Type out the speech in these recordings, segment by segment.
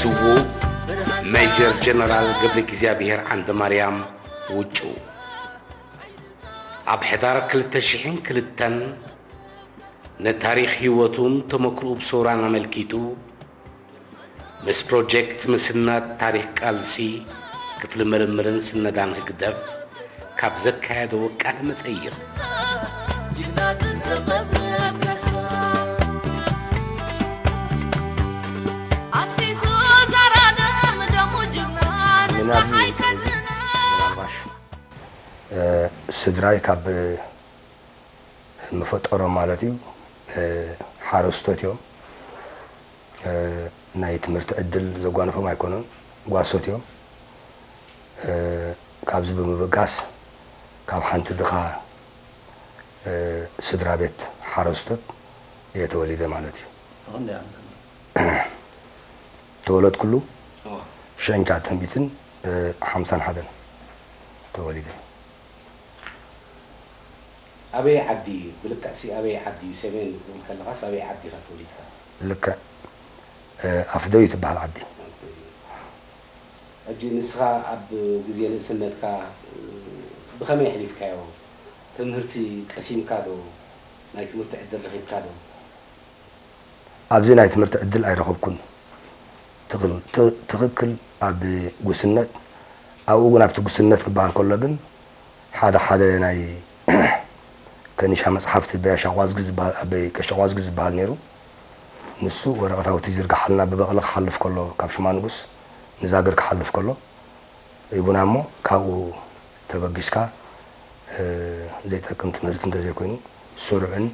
ስዉእ ሜጀር ጀነራል ገብረ እግዚኣብሔር ዓንደ ማርያም ውጩ ኣብ ሕዳር ክልተ ሽሕን ክልተን ንታሪኽ ህይወቱን ተመክሮኡ ብሰውራን ኣመልኪቱ ምስ ፕሮጀክት ምስናድ ታሪኽ ቃልሲ ክፍሊ ምርምርን ስነዳን ህግደፍ ካብ ዘካየደዎ ቃለ መጠይቕ። ጅግና ዝንተቐብረ ከርሳ ኣፍሲሱ ዘራደ ምደሙ ጅግና ንፀሓይ ከድነ። ምናልባሽ ስድራይ ካብ መፈጠሮም ማለት እዩ ሓረስቶት እዮም። ናይ ትምህርቲ ዕድል ዘጓነፎም ኣይኮኑን፣ ጓሶት እዮም። ካብዚ ብምብጋስ ካብ ሓንቲ ድኻ ስድራ ቤት ሓረስቶት እየ ተወሊደ ማለት እዩ። ተወለድኩሉ ሽሕን ትሽዓተ ሚእትን ሓምሳን ሓደን ተወሊደ። ኣበይ ዓዲ እዩ? ብልክዕሲ ኣበይ ዓዲ እዩ? ሰሜን ክትብል ከለኻስ ኣበይ ዓዲ ኢኻ ተወሊድካ? ልክዕ ኣፍደዩ ትበሃል ዓዲ። ሕጂ ንስኻ ኣብ ግዜ ንእስነትካ ብኸመይ ኣሕሊፍካዮ? ትምህርቲ ቀሲምካ ዶ? ናይ ትምህርቲ ዕድል ረኺብካ ዶ? ኣብዚ ናይ ትምህርቲ ዕድል ኣይረኸብኩን። ትኽክል ኣብ ጉስነት ኣብኡ እውን ኣብቲ ጉስነት ክበሃል ከሎ ግን ሓደ ሓደ ናይ ከኒሻ መፅሓፍቲ በያሻ ቋዝጊ ዝበሃል ኣበይ ቀሻ ቋዝጊ ዝበሃል ነይሩ። ንሱ ወረቐት ኣውቲ ይዝርግሓልና ብበቕሊ ክሓልፍ ከሎ ካብ ሽማ ንጉስ ንዛግር ክሓልፍ ከሎ ይቡና እሞ ካብኡ ተበጊስካ ዘይጠቅም ትምህርቲ እንተዘይኮይኑ ስሩዕን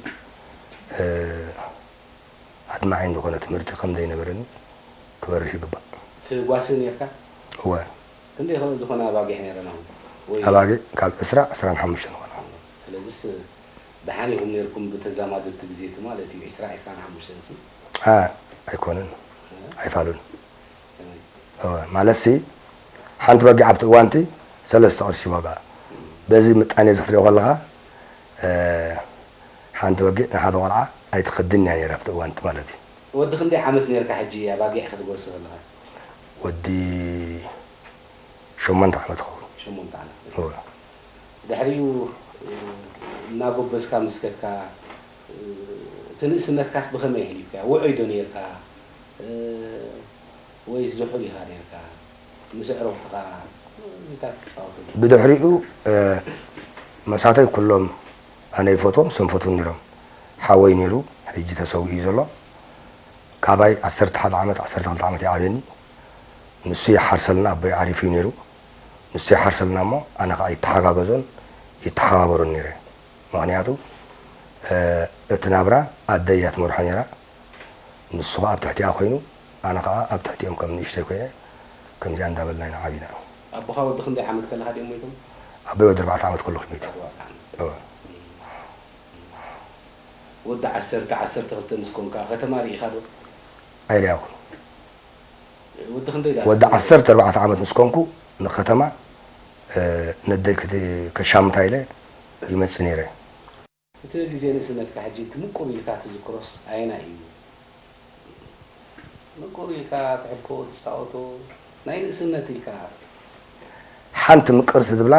ኣድማዒን ዝኾነ ትምህርቲ ከም ዘይነበረኒ ክበርህ ይግባእ። ትጓሲ ነርካ? እወ። ክንደይ ዝኾነ ኣባጊዕ ነረን ኣሁን? ወይ ኣባጊዕ ካብ ዕስራ ዕስራን ሓሙሽተን ዝኾና። ስለዚስ ደሓን ኢኹም ነርኩም ብተዛማድቲ ግዜቲ ማለት እዩ ዕስራ ዕስራን ሓሙሽተን ሲ? ኣ ኣይኮነን ኣይፋሉን። እወ ማለትሲ ሓንቲ በጊዕ ኣብቲ እዋንቲ ሰለስተ ቅርሺ ዋጋ በዚ ምጣኔ እዚ ክትሪኦ ከለኻ ሓንቲ በጊዕ ንሓደ ቆልዓ ኣይትኸድን እያ ነይራ ኣብቲ እዋንቲ ማለት እዩ። ወዲ ክንደይ ዓመት ነርካ ሕጂ ኣባጊዕ ክትጎሲ ከለኻ? ወዲ ሸሞንተ ዓመት ይኸውን። ሸሞንተ ዓመት። እወ። ድሕሪኡ እናጎበዝካ ምስ ከድካ እቲ ንእስነትካስ ብኸመይ ኣሕሊፍካዮ? ውዑይ ዶ ነርካ ወይስ ዝሑል ኢኻ ነርካ? ምስ ኣዕሩኽትኻ እንታይ ትጻወቱ? ብድሕሪኡ መሳተይ ኩሎም ኣነ ይፈትዎም እሶም ይፈትዉኒ ነይሮም። ሓወይ ነይሩ ሕጂ ተሰዊኡ እዩ ዘሎ። ካባይ ዓሰርተ ሓደ ዓመት ዓሰርተ ክልተ ዓመት ይዓብየኒ። ንሱ ይሓርሰልና ኣቦይ ዓሪፉ እዩ ነይሩ። ንሱ ይሓርሰልና እሞ ኣነ ከዓ ይተሓጋገዞን ይተሓባበሮን ነይረ። ምኽንያቱ እቲ ናብራ ኣደይ እያ ትመርሖ ነይራ። ንሱ ከዓ ኣብ ትሕቲኣ ኮይኑ ኣነ ከዓ ኣብ ትሕቲኦም ከም ንእሽተይ ኮይነ ከምዚኣ እንዳበልና ኢና ዓቢና። ኣቦኻ ወዲ ክንደይ ዓመት ከለኻ ድዮም ሞይቶም? ኣቦይ ወዲ ኣርባዕተ ዓመት ከለኹ ሞይቱ። ኣርባዕተ ዓመት። እወ። ወዲ ዓሰርተ ዓሰርተ ክልተ ምስ ኮንካ ከተማ ርኢኻ ዶ? ኣይረኣኹን። ወዲ ዓሰርተ ኣርባዕተ ዓመት ምስ ኮንኩ ንከተማ ነደይ ከሻምታ ኢለ ይመጽእ ነይረ። እቲ ግዜ ንእስነትካ ሕጂ እቲ ምቁር ኢልካ ትዝክሮስ ኣየናይ እዩ? ምቁር ኢልካ ትሕልፎ ትጻወቶ ናይ ንእስነት ኢልካ። ሓንቲ ምቅርቲ ዝብላ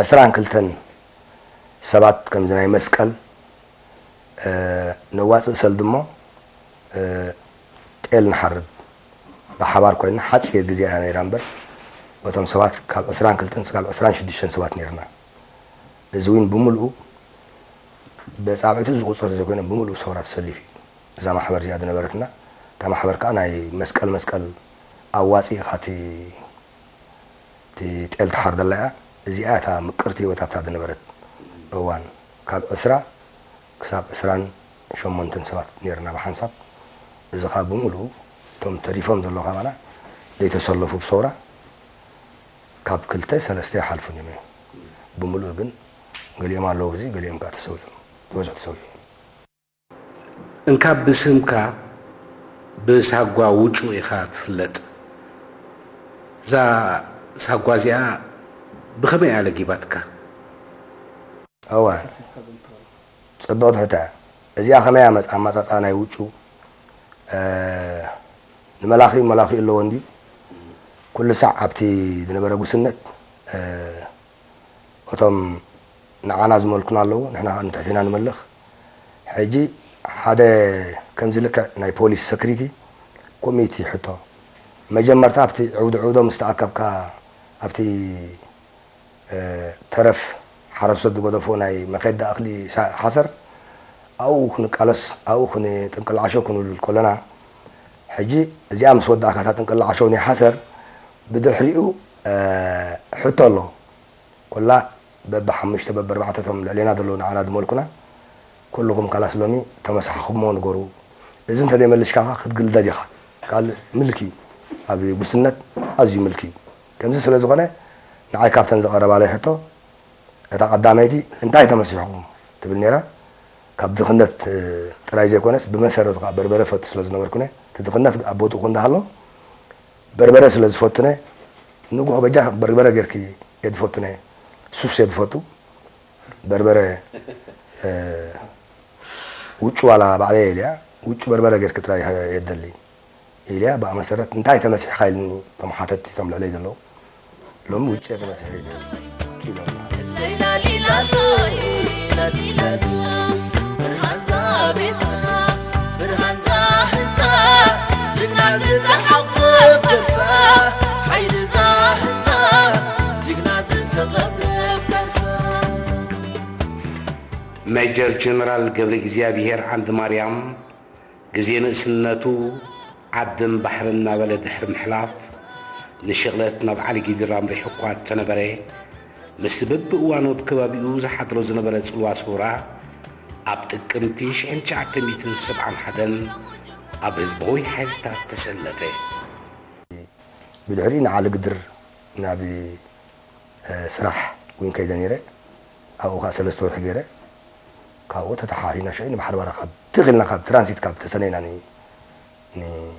ዕስራን ክልተን ሰባት ከምዚ ናይ መስቀል ነዋፅእ ሰልዲ እሞ ጤል ንሓርድ ብሓባር ኮይንና ሓፂር ግዜ እያ ነይራ እምበር እቶም ሰባት ካብ ዕስራን ክልተን ስጋብ ዕስራን ሽዱሽተን ሰባት ነይርና። እዚ እውን ብምልኡ ብፃብዕቲ ዝቁፀር ዘይኮይነ ብምልኡ ሰውራ ተሰሊፉ እዩ። እዛ ማሕበር እዚኣ ዝነበረትና እታ ማሕበር ከዓ ናይ መስቀል መስቀል ኣዋፂእኻ እቲ እቲ ጤል ትሓርደላ እያ። እዚኣ እታ ምቅርቲ ህይወት ኣብታ ዝነበረት እዋን ካብ ዕስራ ክሳብ ዕስራን ሸሞንተን ሰባት ነርና ብሓንሳብ። እዚ ከዓ ብምሉኡ እቶም ተሪፎም ዘለዉ ካባና ዘይተሰለፉ ብሰውራ ካብ ክልተ ሰለስተ ይሓልፉን እዮም። ብምሉኡ ግን ገሊኦም ኣለዉ፣ እዚ ገሊኦም ከዓ ተሰዊኦም፣ ዝበዝሑ ተሰዊኦም። እንካብ ብስምካ ብሳጓ ውጩ ኢኻ ትፍለጥ። እዛ ሳጓ እዚኣ ብኸመይ እያ ለጊባትካ? እወ፣ ጽብቕቲ ሕቶ እያ። እዚኣ ከመይ እያ መጻ-፣ ኣመጻጽኣ ናይ ውጩ፣ እ፣ ንመላኺ መላኺ ኣለዎ እንዲ ኩሉ ሳዕ ኣብቲ ዝነበረ ጉስነት እቶም ንዓና ዝመልኩና ኣለዉ፣ ንሕና ንትሕቲና ንመልኽ። ሕጂ ሓደ ከምዚ ልክዕ ናይ ፖሊስ ሰክሪቲ ኮሚቲ ሕቶ መጀመርታ ኣብቲ ዕውዲ ዕውዶ ምስ ተኣከብካ ኣብቲ ተረፍ ሓረስቶት ዝገደፎ ናይ መኸዳ እኽሊ ሓሰር ኣብኡ ክንቃለስ ኣብኡ ክንጥንቅልዓሾ ክንብል ከለና ሕጂ እዚኣ ምስ ወዳእካ እታ ጥንቅልዓሾ ናይ ሓሰር ብድሕሪኡ ሕቶ ኣሎ። ኮላ በብሓሙሽተ በብኣርባዕተ እቶም ልዕሌና ዘለዉ ንዓና ዝመልኩና ኩልኹም ካላስ ሎሚ ተመሳሕኹሞ ንገሩ። እዚ እንተዘይመልሽካ ክትግልደድ ኢኻ። ካልእ ምልኪ እዩ። ኣብ ጉስነት ኣዝዩ ምልኪ እዩ። ከምዚ ስለ ዝኾነ ንዓይ ካብተን ዝቐረባለይ ሕቶ እታ ቀዳመይቲ እንታይ ተመሲሕኹም ትብል ነይራ። ካብ ድኽነት ጥራይ ዘይኮነስ ብመሰረቱ ከዓ በርበረ ፈቱ ስለ ዝነበርኩነ እቲ ድኽነት ኣብ ቦትኡ እንዳሃሎ በርበረ ስለ ዝፈቱነ ንጉሆ በጃ በርበረ ጌርኪ እየ ዝፈቱነ ሱስ እየ ዝፈቱ በርበረ ውጩ ዋላ ባዕለይ ኢልያ ውጩ በርበረ ጌርኪ ጥራይ እየ ዝደሊ ኢልያ ብኣ መሰረት እንታይ ተመሲሕካ ኢልኒ እቶም ሓተትቲ እቶም ልዕለይ ዘለዉ ሎሚ ውጭ ተመሲሑ ኢሎም ሜጀር ጀነራል ገብረ እግዚኣብሔር ዓንድማርያም ግዜ ንእስነቱ ዓድን ባሕርን እናበለ ድሕሪ ምሕላፍ፣ ንሽቕለት ናብ ዓሊጊድር ኣምሪሑ እኳ እንተነበረ፣ ምስቲ በብእዋኑ ኣብ ከባቢኡ ዝሓድሮ ዝነበረ ጽልዋ ሰውራ፣ ኣብ ጥቅምቲ ሽሕን ትሽዓተ ሚእትን ሰብዓን ሓደን ኣብ ህዝባዊ ሓይልታት ተሰለፈ። ብድሕሪኡ ንዓሊጊድር ናብ ስራሕ ውን ከይደ ነይረ። ኣብኡ ከዓ ሰለስተ ወርሒ ገይረ። ካብኡ ተተሓሒና ሽዑ ንባሕሪ ባራ ካብ ትኽ ኢልና ካብ ትራንሲት ካብ ተሰነይና ን- ን-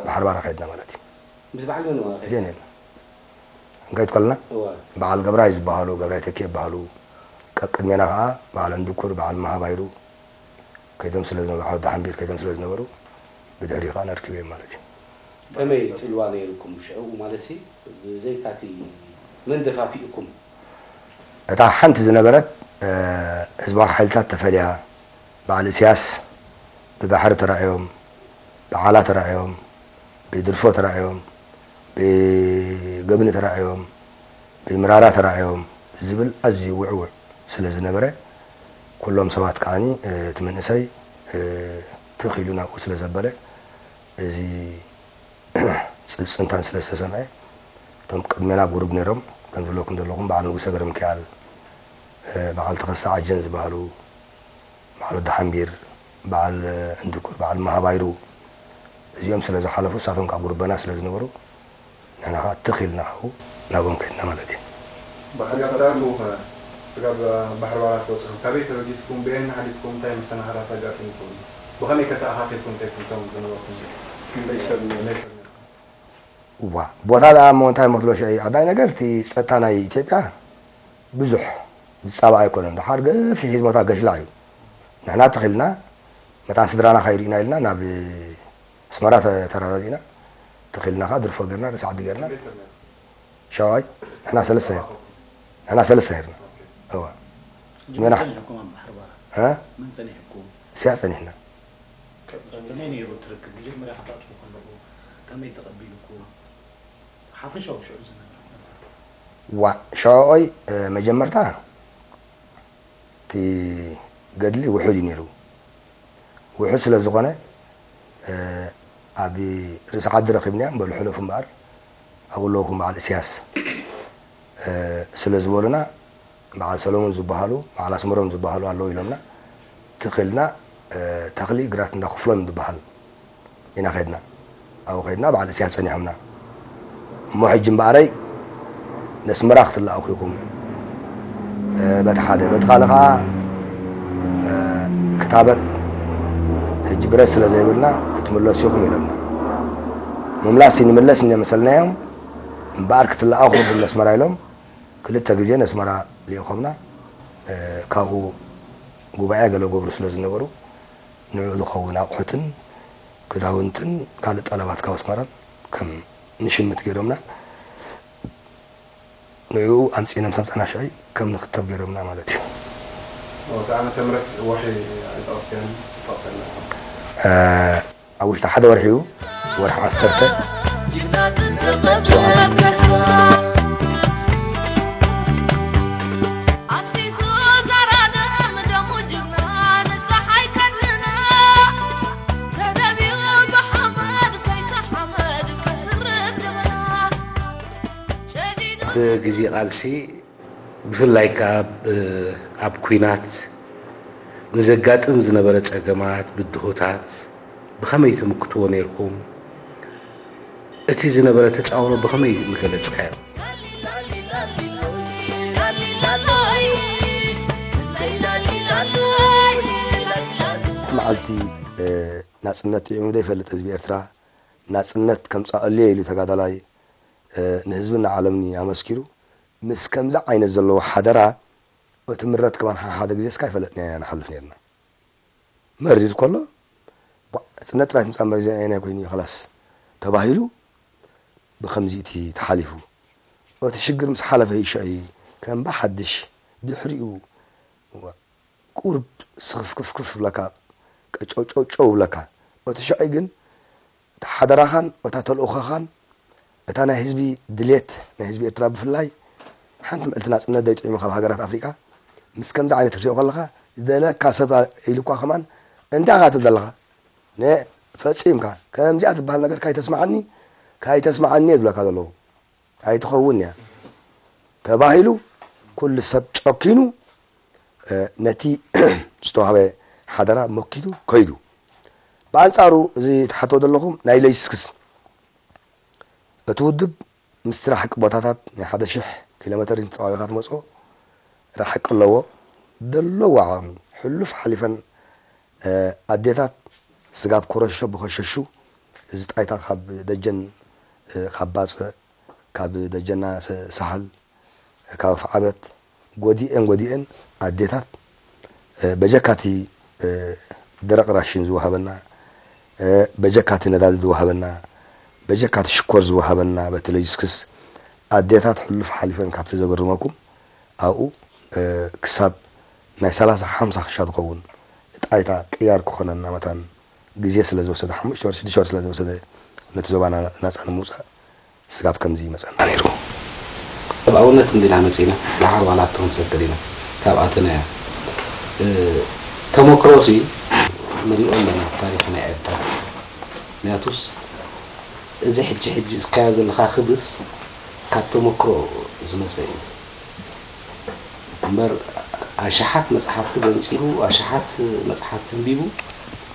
ባሕሪ ባራ ከድና ማለት እዩ። ምስ በዓል መን ማለት እዩ? እዚአን እየን። እንካይት ከለና እዋ። በዓል ገብራይ ዝበሃሉ ገብራይ ተኪ ይበሃሉ። ቀቅድሜና ከዓ በዓል እንድኩር በዓል መሃባይሩ ከይዶም ስለ ዝነበሩ ዓወት ደሓንቢር ከይዶም ስለ ዝነበሩ ብድሕሪ ከዓ ነርክበዮም ማለት እዩ። ከመይ ፅልዋ ነይርኩም ሽዑ ማለት ሲ ብዘይካቲ መን ደፋፊእኩም? እታ ሓንቲ ዝነበረት ህዝባዊ ሓይልታት ተፈልያ በዓል እስያስ ብባሕሪ ተራእዮም፣ ብዓላ ተራእዮም፣ ብድርፎ ተራእዮም፣ ብገብኒ ተራእዮም፣ ብምራራ ተራእዮም ዝብል ኣዝዩ ውዕውዕ ስለ ዝነበረ ኩሎም ሰባት ከዓኒ እቲ መንእሰይ ትኽ ኢሉ ናብኡ ስለ ዘበለ እዚ ጽንታን ስለ ዝተሰምዐ እቶም ቅድሜና ኣብ ጉሩብ ነይሮም ከም ዝብለኩም ዘለኹም በዓል ንጉሰ ገረምክያል በዓል ተኸስተ ዓጀን ዝበሃሉ በዓል ወዲ ሓምቢር በዓል እንድኩር በዓል ማሃባይሩ እዚኦም ስለ ዝሓለፉ እሳቶም ካብ ጉሩበና ስለ ዝነበሩ ንሕና ከዓ ትኽ ኢልና ካብኡ ናብኦም ከድና ማለት እዩ። ብሓንሳብ ትኣትዉ ኸ ስጋብ ባሕሪ ባራት በፂኹም ካበይ ተበጊስኩም ብየን ሓሊፍኩም እንታይ መሰናኽላት ኣጋጢምኩም ብኸመይ ከ ተኣኻኺብኩም ከይድኩም እቶም ዝነበርኩም ክንደይ ሰብ ነይሩ? ዋ ቦታ ደኣ እሞ እንታይ መስሎ ሽዑ ቀዳይ ነገር እቲ ፀጥታ ናይ ኢትዮጵያ ብዙሕ ዝፃባእ ኣይኮነን። ደሓር ገፊሕ እዩ ቦታ ገሽላዕ እዩ። ንሕና ትኽልና መታን ስድራና ካይርኢና ኢልና ናብ ኣስመራ ተራዳዲእና ትኽልና ከዓ ድርፎ ገርና ርእሲ ዓዲ ገርና ሸውዓይ ንሕና ሰለስተ ነርና። ንሕና ሰለስተ ነርና። እዋ ጅሜና እ? ስያ ጸኒሕና። ከመይ ነይሩ እቲ ርክብ? መጀመርያ ከተእትዉ ከለኹ ከመይ ተቐቢልኩም? ሓፈሻዊ ሽዑ ዝነበረ ኩነታት። ዋ ሸውዓይ መጀመርታ እቲ ገድሊ ውሑድ እዩ ነይሩ። ውሑድ ስለ ዝኾነ ኣብ ርእሲ ዓዲ ረኺብናዮም በሉ ሕለፉ እምበኣር ኣብኡ ኣለውኹም በዓል እስያስ ስለ ዝበሉና በዓል ሰሎሙን ዝበሃሉ በዓል ኣስመሮም ዝበሃሉ ኣለዉ ኢሎምና ትኽ ኢልና ተኽሊ ግራት እንዳ ክፍሎም ዝበሃል ኢና ከድና ኣብኡ ከድና በዓል እስያስ ጸኒሖምና እሞ ሕጂ እምበኣረይ ነስመራ ክትለኣኹ ኢኹም በቲ ሓደ በቲ ካልእ ከዓ ክታበት ሕጂ ብረት ስለ ዘይብልና ክትምለሱ ኢኹም ኢሎምና ምምላስ ንምለስ እነ መሰልናዮም እምበኣር ክትለኣኹ ኢኹም ነስመራ ኢሎም ክልተ ግዜ ነስመራ ልኢኾምና ካብኡ ጉባኤ ገለ ገብሩ ስለ ዝነበሩ ንዕኡ ዝኸውን ኣቑሑትን ክዳውንትን ካልእ ጠለባት ካብ ኣስመራን ከም ንሽምት ገይሮምና። ንዕኡ ኣምጺእና ምስ ኣምጻእና ሽዑ ከም ንክተብ ገይሮምና ማለት እዩ። እቲ ዓመተ ምህረት ወርሒ ኣይጠቐስካዮን፣ ጠቕሰልና። እ፣ ኣብ ውሽጢ ሓደ ወርሒ እዩ፣ ወርሒ ዓሰርተ። ብግዜ ቃልሲ ብፍላይ ከኣ ኣብ ኲናት ንዘጋጥም ዝነበረ ጸገማት፣ ብድሆታት ብኸመይ ትምክትዎ ነይርኩም? እቲ ዝነበረ ተጻውሮ ብኸመይ ምገለጽካዮ? መዓልቲ ናጽነት ጥዒሙ ዘይፈልጥ ህዝቢ ኤርትራ፣ ናጽነት ከምጻኣሉ እየ ኢሉ ተጋዳላይ ንህዝብን ንዓለምን ኣመስኪሩ። ምስ ከምዚ ዓይነት ዘለዎ ሓደራ እቲ ምረት ከማን ሓሓደ ግዜስ ካይፈለጥናዮ ኢና ንሓልፍ ነርና። መሪር ከሎ፣ ቧዕ፣ ጽነት ጥራይ ትምጻእ መሪር ዜና ኣየናይ ኮይኑ እዩ ኸላስ ተባሂሉ፣ ብኸምዚ እቲ ተሓሊፉ። እቲ ሽግር ምስ ሓለፈ እዩ ሽዑ ከም ብሓድሽ ድሕሪኡ ቁሩብ ስኽፍክፍክፍ ይብለካ፣ ቀጨውጨውጨው ይብለካ። እቲ ሽዑ ግን እታ ሓደራኻን እታ ተልእኾኻን እታ ናይ ህዝቢ ድሌት ናይ ህዝቢ ኤርትራ ብፍላይ ሓንቲ ምዕልቲ ናጽነት ዘይጥዒሙ ካብ ሃገራት ኣፍሪቃ ምስ ከምዚ ዓይነት ክትሪኦ ከለኻ ዝደለካ ሰብ ኢሉ እኳ ከማን እንታይ ኢኻ ትብል ዘለኻ ነ ፈጺምካ ከምዚኣ ትበሃል ነገር ካይተስምዓኒ ካይተስምዓኒ እየ ዝብለካ ዘለኹ። ኣይትኸውን እያ ተባሂሉ ኩሉ ሰብ ጨኪኑ ነቲ ዝተዋህበ ሓደራ መኪቱ ከይዱ። ብኣንጻሩ እዚ ትሓትዎ ዘለኹም ናይ ሎጂስቲክስ እቲ ውድብ ምስቲ ራሕቂ ቦታታት ናይ ሓደ ሽሕ ኪሎ ሜተር ተጻዊርካ ትመጽኦ ራሕቂ ኣለዎ። ዘለዎ ዓቕሚ ሕሉፍ ሓሊፈን ኣዴታት ስጋብ ኮረሾ ብኸሸሹ እዚ ጣይታ ካብ ደጀን ካብ ባጽዕ ካብ ደጀና ሳሕል ካብ ኣፍዓበት ጎዲኤን ጎዲኤን ኣዴታት በጀካቲ ደረቕ ራሽን ዝወሃበና በጀካቲ ነዳዲ ዝወሃበና በጀካቲ ሽኮር ዝወሃበና በቲ ሎጂስቲክስ ኣዴታት ሕሉፍ ሓሊፈን ካብቲ ዘገርመኩም ኣብኡ ክሳብ ናይ ሰላሳ ሓምሳ ክሻ ዝኸውን ጣይታ ቅያር ክኾነና መታን ግዜ ስለ ዝወሰደ ሓሙሽተ ወር ሽዱሽተ ወር ስለ ዝወሰደ ነቲ ዞባ ናጻ ንምውጻእ ስጋብ ከምዚ ይመጸና ነይሩ። ሰብኣውነት እንዲና መጺና ደሓር ዋላ እቶም ሰብ ገዲና ካብ ኣተናያ ተመክሮ ሲ ንሪኦ ኣለና ታሪኽ ናይ ኤርትራ ምክንያቱስ እዚ ሕጂ ሕጂ እስካዮ ዘለኻ ክብርስ ካብ ተመክሮ ዝመጸ እዩ እምበር ኣሽሓት መጽሓፍቲ ገንጺሉ ኣሽሓት መጽሓፍቲ ኣንቢቡ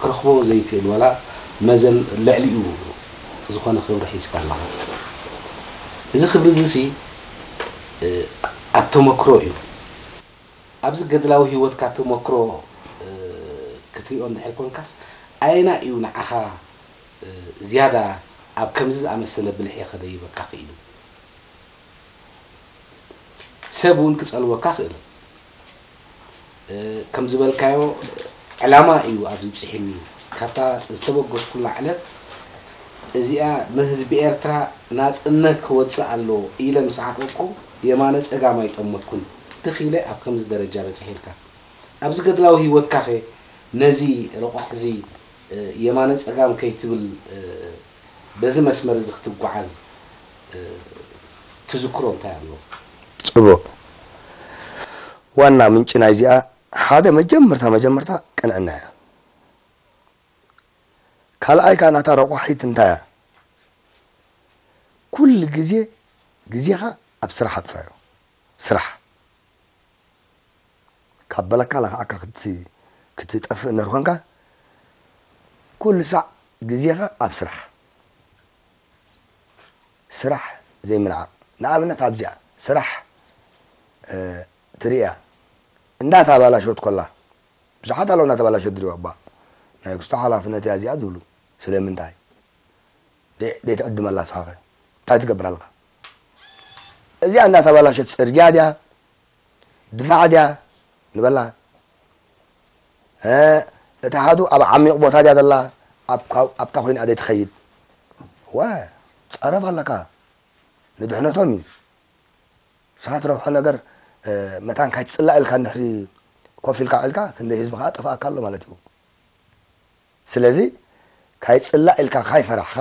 ክረኽቦ ዘይክእል ዋላ መዘን ልዕሊኡ ዝኾነ ክብሪ ሒዝካ ኣለኻ። እዚ ክብሪ እዚ ሲ ኣብ ተመክሮ እዩ። ኣብዚ ገድላዊ ህይወትካ ተመክሮ ክትሪኦ እንድሕር ኮንካስ ኣየና እዩ ንዓኻ ዝያዳ ኣብ ከምዚ ዝኣመሰለ ብልሒ ከደይበካ ክኢሉ? ሰብ እውን ክጸልወካ ክእል። ከም ዝበልካዮ ዕላማ እዩ ኣብዚ ብጽሒኒ። ካብታ ዝተበገስኩላ ዕለት እዚኣ ንህዝቢ ኤርትራ ናጽነት ክወጽእ ኣለዎ ኢለ ምስ ዓቐብኩ የማነ ጸጋም ኣይጠመትኩን። ትኽ ኢለ ኣብ ከምዚ ደረጃ በጺሐ ኢልካ። ኣብዚ ገድላዊ ህይወትካኸ ነዚ ረቋሕዚ የማነ ጸጋም ከይትብል በዚ መስመር እዚ ክትጓዓዝ ትዝክሮ እንታይ ኣሎ? ጽቡቕ። ዋና ምንጪ ናይዚኣ ሓደ መጀመርታ መጀመርታ ቅንዕና እያ። ካልኣይ ከኣ ናታ ረቋሒት እንታይ እያ? ኩሉ ግዜ ግዜኻ ኣብ ስራሕ ኣጥፋዮ። ስራሕ ካብ በለካ ለኽዓካ ክትጠፍእ እንድሕር ኮንካ ኩሉ ሳዕ ግዜኻ ኣብ ስራሕ ስራሕ ዘይምንዓቕ። ንኣብነት ኣብዚኣ ስራሕ ትርእያ እንዳተባላሸወት ኮላ ብዙሓት ኣለዉ እንዳተባላሸወት ዝርእዩ እባ ናይ ክስቶ ሓላፍነት እያ እዚኣ ዝብሉ ስለምንታይ ዘይትዕድመላ ንስኻ እንታይ ትገብር ኣለኻ? እዚኣ እንዳተባላሸት ጽርግያ ድያ ድፋዕ ድያ ንበላ እቲ ሓዱ ኣብ ዓሚቕ ቦታ ድያ ዘላ ኣብታ ኮይና ኣደይ ትኸይድ። ዋ ጸረፍ ኣለካ ንድሕነቶም እዩ። ንስኻ ትረብሖ ነገር መታን ካይትጽላእ ኢልካ እንድሕሪ ኮፍ ኢልካ ውዒልካ ክንደይ ህዝቢ ከዓ ጠፋእካ ኣሎ ማለት እዩ። ስለዚ ካይጽላእ ኢልካ ካይፈራሕኻ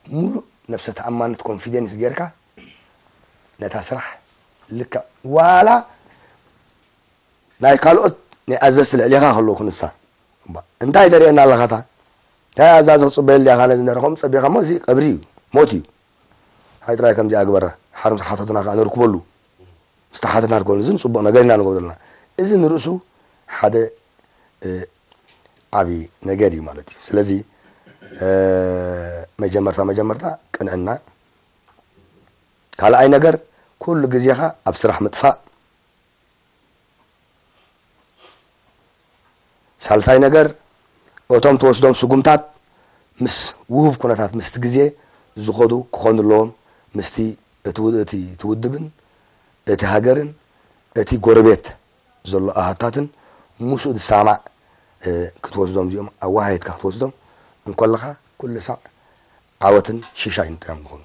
ሙሉእ ነብሰ ተኣማንነት ኮንፊደንስ ጌርካ ነታ ስራሕ ልክዕ ዋላ ናይ ካልኦት ናይ ኣዘዝቲ ልዕሌኻ ከለዉ ክንሳ እንታይ ተርእየና ኣለኻታ እንታይ ኣዛዚ ክፅበየሉ ዲኻ ነዚ ነረኸም ፀቢኻ ሞ እዚ ቀብሪ እዩ ሞት እዩ። ሓይ ጥራይ ከምዚኣ ግበራ ሓርምቲ ሓተቱና ከዓ ንርክበሉ። ዝተሓተትና ንገብረሉ እዚ ንፅቡቕ ነገር ኢና ንገብረልና። እዚ ንርእሱ ሓደ ዓብዪ ነገር እዩ ማለት እዩ። ስለዚ መጀመርታ መጀመርታ ቅንዕና፣ ካልኣይ ነገር ኩሉ ግዜኻ ኣብ ስራሕ ምጥፋእ፣ ሳልሳይ ነገር እቶም ትወስዶም ስጉምታት ምስ ውሁብ ኩነታት ምስቲ ግዜ ዝኸዱ ክኾኑ ኣለዎም። ምስቲ እቲ ውድብን እቲ ሃገርን እቲ ጎረቤት ዘሎ ኣሃታትን ምስኡ ዝሰማማዕ ክትወስዶም እዚኦም ኣወሃሂድካ ክትወስዶም እንከለኻ ኩሉ ሳዕ ዓወትን ሽሻይን ጥራዮም ዝኾኑ።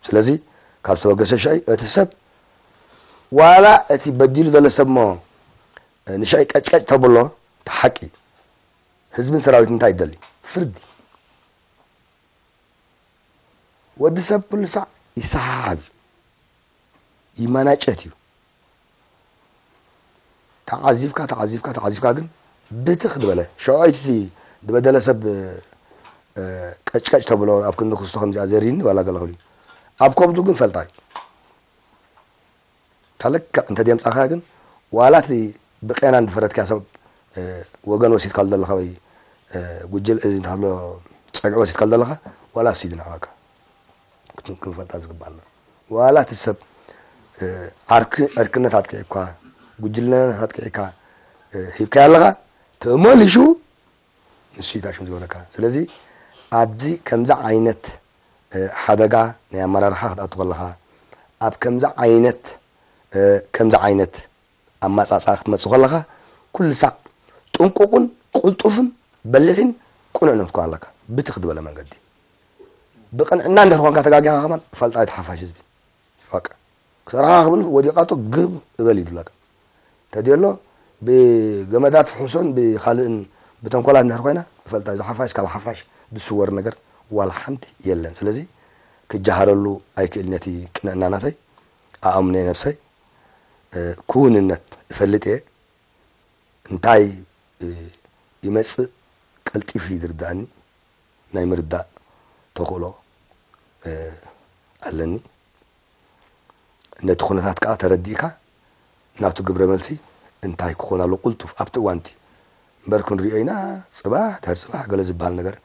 ስለዚ ካብ ዝተበገሰ ሽዑ እቲ ሰብ ዋላ እቲ በዲሉ ዘሎ ሰብ እሞ ንሽዑ ቀጭቀጭ ተብሎ እቲ ሓቂ ህዝብን ሰራዊት እንታይ ይደሊ ፍርዲ ወዲ ሰብ ኩሉ ሳዕ ይሰሓሓብ እዩ ይመናጨት እዩ። ተዓዚብካ ተዓዚብካ ተዓዚብካ ግን ብትኽ ዝበለ ሸውዓይቲ ዝበደለ ሰብ ቀጭቀጭ ተብሎ ኣብ ክንዲ ክስቶ ከምዚኣ ዘሪኒ ዋላ ገለ ክብል እዩ ኣብ ከብዱ ግን ፈልጣ እዩ። ታለክዕ እንተ ደምፃኻ ግን ዋላ እቲ ብቄና እንድፈረትካ ሰብ ወገን ወሲድካ ዘለኻ ወይ ጉጅል እዚ እንተሃሎ ፀግዒ ወሲድካ ዘለኻ ዋላ እሱ እዩ ዝንዕቐካ። ክንፈልጣ ዝግባና ዋላ እቲ ሰብ ዕርክነት ኣጥቂዕካ ጉጅልነት ኣጥቂዕካ ሂብካዮ ኣለኻ ተመሊሹ ንሱ እዩ ታሽሙ ዝገብረካ። ስለዚ ኣብዚ ከምዚ ዓይነት ሓደጋ ናይ ኣመራርሓ ክትኣቱ ከለኻ ኣብ ከምዚ ዓይነት ከምዚ ዓይነት ኣማፃፅኣ ክትመፅእ ከለኻ ኩሉ ሳዕ ጥንቁቕን ቅልጡፍን በሊሕን ቅኑዕን ክትኮን ኣለካ። ብትኽ ዝበለ መንገዲ ብቕንዕና እንድሕር ኮንካ ተጋጊኻ ከማን ፈልጣ እቲ ሓፋሽ ህዝቢ በቃ ክሰርሓ ክብል ወዲቓቶ ግብ እበል እዩ ዝብለካ። ተድየሎ ብገመዳት ፍሑሶን ብካልእን ብተንኮላት እንድሕር ኮይና ፈልጣ እዚ ሓፋሽ ካብ ሓፋሽ ዝስወር ነገር ዋላ ሓንቲ የለን። ስለዚ ክጀሃረሉ ኣይክእል ነቲ ቅንዕና ናተይ ኣኣምነ ነብሰይ ክውንነት እፈልጥ እየ። እንታይ ይመጽእ ቀልጢፉ እዩ ዝርዳእኒ ናይ ምርዳእ ተኽእሎ ኣለኒ። ነቲ ኩነታት ከኣ ተረዲእካ ናቱ ግብረ መልሲ እንታይ ክኾን ኣሎ ቁልጡፍ ኣብቲ እዋንቲ እምበር ክንሪኦ ኢና ጽባሕ ድሕር ጽባሕ ገለ ዝበሃል ነገር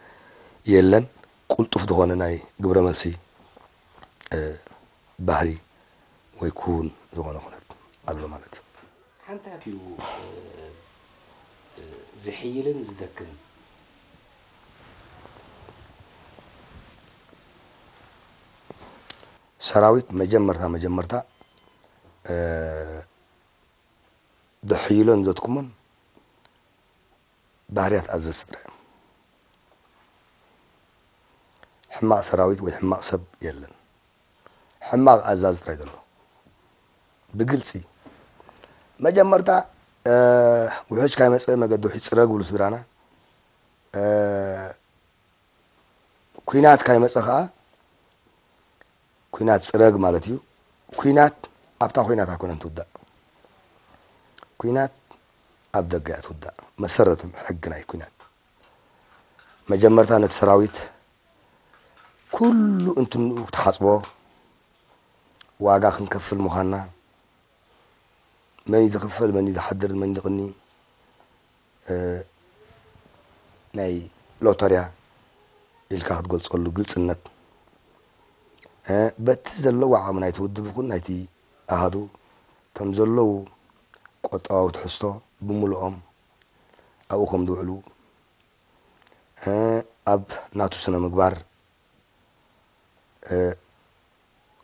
የለን። ቁልጡፍ ዝኾነ ናይ ግብረ መልሲ ባህሪ ወይ ክውን ዝኾነ ኩነት ኣሎ ማለት እዩ። ሓንታት እዩ ዝሕይልን ዝደክምን። ሰራዊት መጀመርታ መጀመርታ ድሕይሎን ዘትኩሞን ባህርያት ኣዘዝቲ ጥራይ እዮም። ሕማቕ ሰራዊት ወይ ሕማቕ ሰብ የለን። ሕማቕ ኣዛዚ ጥራይ ዘሎ ብግልፂ መጀመርታ ውሕጅ ካይመፀ መገዲ ውሕጅ ፅረግ ብሉ ስድራና ኩናት ካይመፀ ከዓ ኩናት ፅረግ ማለት እዩ። ኩናት ኣብታ ኩናት ኣይኮነን ትውዳእ። ኩናት ኣብ ደገ እያ ትውዳእ። መሰረት ሕጊ ናይ ኩናት መጀመርታ ነቲ ሰራዊት ኩሉ እንትንኡ ክትሓፅቦ ዋጋ ክንከፍል ምዃንና መን እዩ ዝኽፈል መን እዩ ዝሓድር መን ዝቕኒ ናይ ሎተርያ ኢልካ ክትገልፀሉ ግልፅነት በቲ ዘለዎ ዓቕሚ ናይቲ ውድብ ይኹን ናይቲ ኣሃዱ ከም ዘለዉ ቆጠባዊ ትሕዝቶ ብምልኦም ኣብኡ ከም ዝውዕሉ ኣብ ናቱ ስነ ምግባር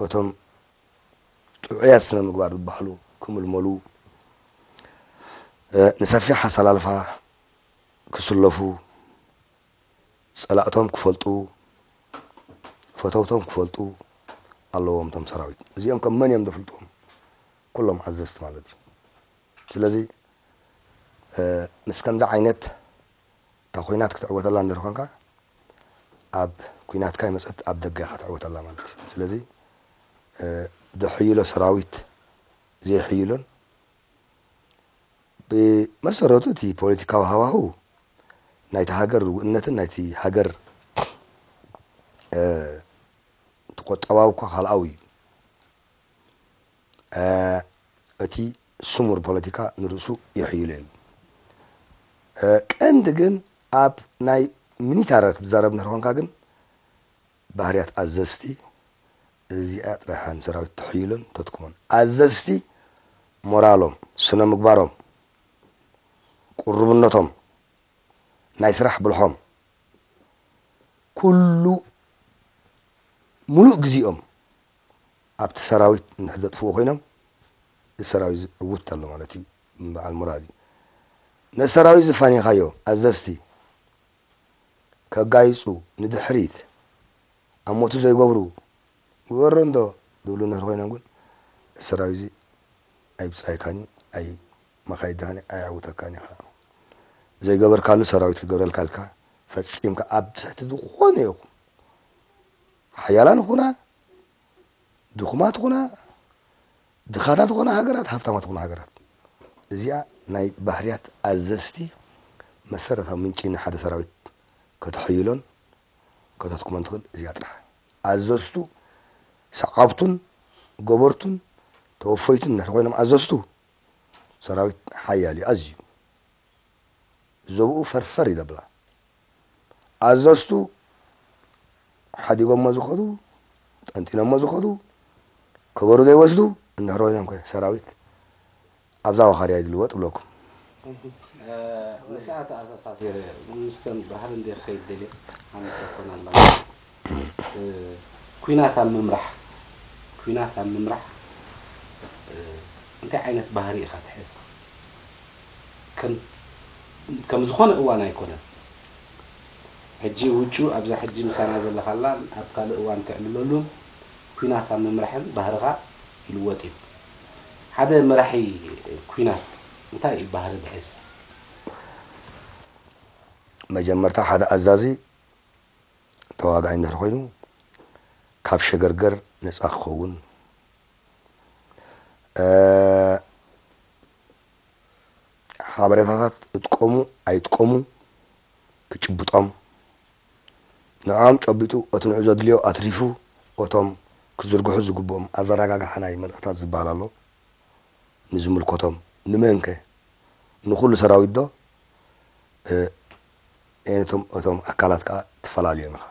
እቶም ጥዑያት ስነ ምግባር ዝበሃሉ ክምልመሉ ንሰፊሕ ኣሰላልፋ ክስለፉ ጸላእቶም ክፈልጡ፣ ፈተውቶም ክፈልጡ ኣለዎም። እቶም ሰራዊት እዚኦም ከም መን እዮም ዘፍልጥዎም? ኩሎም ኣዘዝቲ ማለት እዩ። ስለዚ ምስ ከምዚ ዓይነት እታ ኲናት ክትዕወተላ እንድሕር ኮንካ፣ ኣብ ኲናትካ ይመጸት ኣብ ደገ ኢኻ ትዕወተላ ማለት እዩ። ስለዚ ድሕይሎ ሰራዊት ዘይሕይሎን፣ ብመሰረቱ እቲ ፖለቲካዊ ሃዋህው ናይቲ ሃገር ርውእነትን ናይቲ ሃገር እቲ ቆጠባዊ እኳ ካልኣዊ እዩ። እቲ ስሙር ፖለቲካ ንርእሱ ይሕይሎ እዩ። ቀንዲ ግን ኣብ ናይ ሚኒታሪ ክትዛረብ እንድሕር ኮንካ ግን ባህርያት ኣዘዝቲ እዚኣ ጥራይ እያ ንሰራዊት ተሕይሎን ተትኩሞን። ኣዘዝቲ ሞራሎም፣ ስነ ምግባሮም፣ ቁርብነቶም፣ ናይ ስራሕ ብልሖም፣ ኩሉ ሙሉእ ግዜኦም ኣብቲ ሰራዊት እንድሕር ዘጥፍኡ ኮይኖም፣ እዚ ሰራዊት እዚ ዕውት ኣሎ ማለት እዩ። በዓል ሞራል እዩ። ነቲ ሰራዊት ዝፋኒኻዮ ኣዘዝቲ ከጋይጹ፣ ንድሕሪት ኣብ ሞቱ ዘይገብሩ፣ ግበሮ እንዶ ዝብሉ እንድሕር ኮይኖም ግን፣ እዚ ሰራዊት እዚ ኣይብጻይካን እዩ፣ ኣይ መኻይድኻን እዩ፣ ኣየዕውተካን እዩ። ዘይገበርካሉ ሰራዊት ክገብረልካ ኢልካ ፈጺምካ ኣብ ትሕቲ ዝኾነ ይኹን ሓያላን ኹና፣ ድኹማት ኹና፣ ድኻታት ኹና ሃገራት፣ ሃብታማት ኹና ሃገራት፣ እዚኣ ናይ ባህርያት ኣዘዝቲ መሰረታዊ ምንጪ ንሓደ ሰራዊት ከተሕይሎን ከተትኩሞን ትኽእል እዚኣ ጥራሕ። ኣዘዝቱ ሰዓብቱን ገበርቱን ተወፈይቱን እንድሕር ኮይኖም ኣዘዝቱ፣ ሰራዊት ሓያል እዩ ኣዝዩ። ዘብኡ ፈርፈር እዩ ዘብላ። ኣዘዝቱ ሓዲጎሞ ዝኸዱ፣ ጠንጢኖሞ ዝኸዱ፣ ከበሩ ዘይወስዱ እንድሕር ኮይኖም ከ ሰራዊት ኣብዛ ዋኻርያ እዩ ዝልወጥ እብለኩም። ንስኣ ተኣሳሲረ ምስተን ባህሪ እንደ ክኸይድ ደልየ ሓንቲ ሕቶን ኣላ። እ፣ ኲናት ኣብ ምምራሕ፣ ኲናት ኣብ ምምራሕ፣ እ፣ እንታይ ዓይነት ባህሪ ኢኻ ትሕዝ? ከም፣ ከም ዝኾነ እዋን ኣይኮነን። ሕጂ ውጩ ኣብዛ ሕጂ ምሳና ዘለኻላን ኣብ ካልእ እዋን ትዕልለሉን ኲናት ኣብ ምምራሕን ባህርኻ ይልወጥ እዩ። ሓደ መራሒ ኲናት እንታይ እዩ ባህሪ ዝሕዝ? መጀመርታ ሓደ ኣዛዚ ተዋጋኣይ እንድሕር ኮይኑ ካብ ሸገርገር ነፃ ክኸውን፣ ሓበሬታታት እጥቀሙ ኣይጥቀሙ ክጭብጦም፣ ንዕኦም ጨቢጡ እቲ ንዑ ዘድልዮ ኣትሪፉ እቶም ክዝርግሑ ዝግብኦም ኣዘራጋግሓ ናይ መልእኽታት ዝበሃል ኣሎ። ንዝምልከቶም፣ ንመንከ? ንኹሉ ሰራዊት ዶ? እቶም እቶም ኣካላት ከዓ ትፈላልዮም ኢኻ፣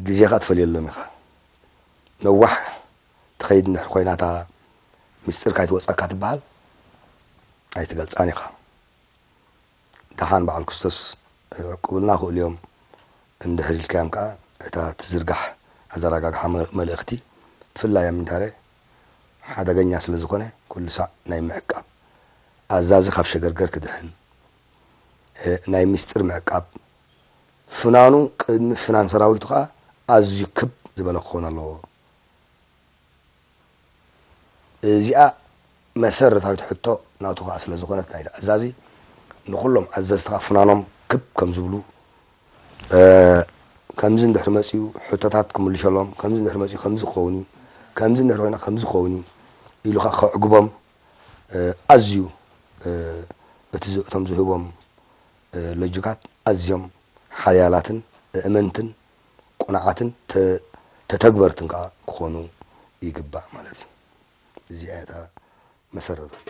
ግዜ ከዓ ትፈልየሎም ኢኻ። ነዋሕ ትኸይድ እንድሕር ኮይና እታ ምስጢር ካይትወፀካ ትበሃል ኣይትገልፃን ኢኻ። ደሓን በዓል ክስቶስ ዕቁብልና ክእልዮም እንድሕር ኢልካዮም ከዓ እታ ትዝርጋሕ ኣዘራጋግሓ መልእኽቲ ብፍላይ ኣብ ሚንታረ ሓደገኛ ስለ ዝኾነ ኩሉ ሳዕ ናይ ምዕቃብ ኣዛዚ ካብ ሸገርገር ክድሕን ናይ ምስጢር ምዕቃብ ፍናኑ ቅድሚ ፍናን ሰራዊቱ ከዓ ኣዝዩ ክብ ዝበለ ክኸውን ኣለዎ። እዚኣ መሰረታዊት ሕቶ ናቱ ከዓ ስለ ዝኾነት ናይቲ ኣዛዚ ንኹሎም ኣዘዝቲ ከዓ ፍናኖም ክብ ከም ዝብሉ ከምዚ እንድሕር መፅኡ ሕቶታት ክምልሸሎም ከምዚ እንድሕር መፅኡ ከምዚ ክኸውን እዩ ከምዚ እንድሕር ኮይና ከምዚ ክኸውን እዩ ኢሉ ከዓ ከዕግቦም ኣዝዩ እቲ እቶም ዝህቦም ሎጂካት ኣዝዮም ሓያላትን እእመንትን ቁኑዓትን ተተግበርትን ከዓ ክኾኑ ይግባእ ማለት እዩ። እዚኣ እያ እታ መሰረታዊት።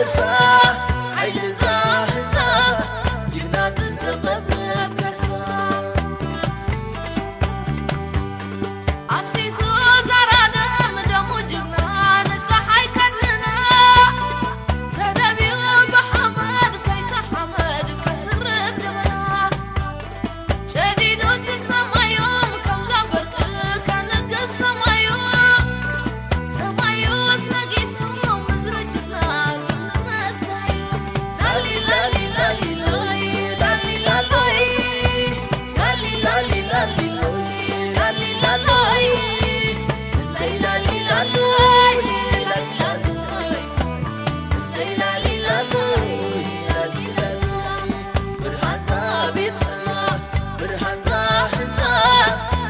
ሓይሊ እዛ ህንፃ ጅግና ዝተቐብረ ከርሳ። ኣፍሲሱ ዛራ ደም ደሙ ጅግና ንፀሓይ ከድንና። ተደብዩ ብሓመድ ፈይታ ሓመድ ከስርብ ደመና። ጨዲዱ እቲ ሰማዮም ከምዛ በርቂ ከንግስ ሰማዩ። ሰማዩስ ነጊሱ ምድሪ ጅግና ጅግንነት ዳዩ። ላሊ ላሊ ላሊ ሎይ፣ ላሊ ላሊ ላሊ ሎይ፣ ላሊ ላሊ ላሊ ሎይ፣ ላሊ ላሊ ላሊ ሎይ፣ ላሊ ላሊ ላሊ ሎይ፣ ላሊ ላሊ ላሊ ሎይ፣ ላሊ ላሊ ላሊ ሎይ፣ ላሊ ላሊ ላሊ ሎይ። ብርሃን ዛቤትና፣ ብርሃን ዛህንፃ፣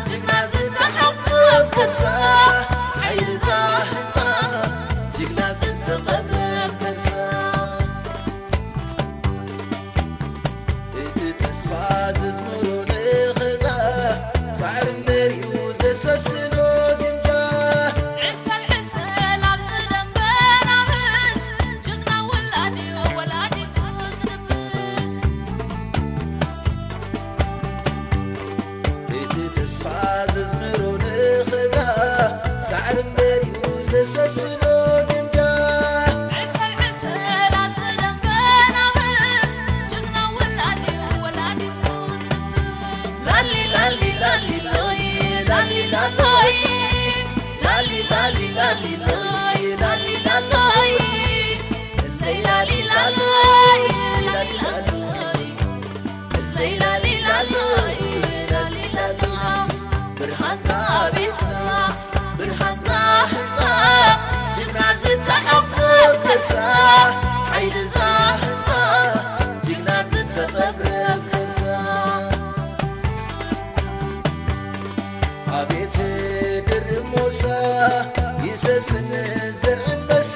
ጅግና ዝተሓቑፈ ከርሳ፣ ሓይሊ ዛህንፃ፣ ጅግና ዝተቐብረ ከርሳ። እቲ ተስፋ ዘዝምሮ ንኽዛ፣ ሳዕሪ እምበሪኡ ዘሰስኖ ግምጃ። ዕሰል ዕሰል ኣብ ዝደንበ ናብስ፣ ጅግና ውላድ እዩ ወላዲቱ ዝድብስ። እቲ ተስፋ ዘዝምሮ ንኽዛ፣ ሳዕሪ እምበሪኡ ዘሰስኖ ግምጃ። ዕሰል ዕሰል ኣብ ዝደንበ ናብስ፣ ጅግና ውላድ እዩ ወላዲቱ ዝድብስ። ላሊ ላሊ ላሊ ሎይ፣ ላሊ ላሎይ፣ ላሊ ላሊ ላሊ ሎይ፣ ላሊ ላሎይ፣ ላሊ ላሎይ፣ ላሊ ላሎይ። ለይላሊላሎይ፣ ላሊላሎ። ብርሃን ዛቤትና፣ ብርሃን ዛህንፃ፣ ጅግና ዝተሓቑፈ ከርሳ፣ ሓይሊ ዛህንፃ፣ ጅግና ዝተቐብረ ከርሳ። ኣቤት ድርብ ሞሳ፣ ይሰስን ዘር ኣንበሳ።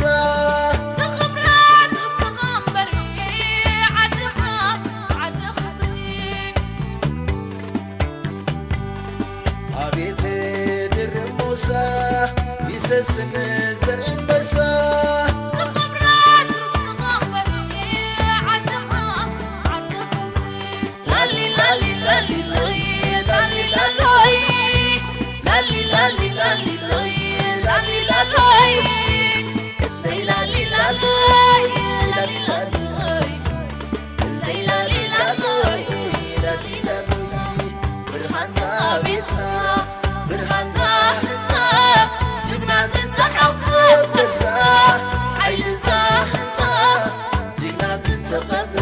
ዝኽብረት ርስትኻ እምበሪ፣ ዓድኻ ዓዲ ኽብሪ። ኣቤት ድርብ ሞሳ፣ ይሰስን ዘር ኣንበሳ። ዝኽብረት ርስትኻ እምበሪ፣ ዓድኻ ዓዲ ኽብሪ። ላሊ ላሊ ላሊ ሎይ፣ ላሊ ላሎይ። ላሊ ላሊ ላሊ ሎይ፣ ላሊ ላሎይ። ለይ ላሊ ላሎይ፣ ላሊ ላሎይ። ለይ ላሊ ላሎይ፣ ላሊ ላሎይ። ብርሃን ዛቤትና፣ ብርሃን ዛህንፃ፣ ጅግና ዝተሓቑፈ ከርሳ፣ ሓይሊ ዛህንፃ፣ ጅግና ዝተቐብረ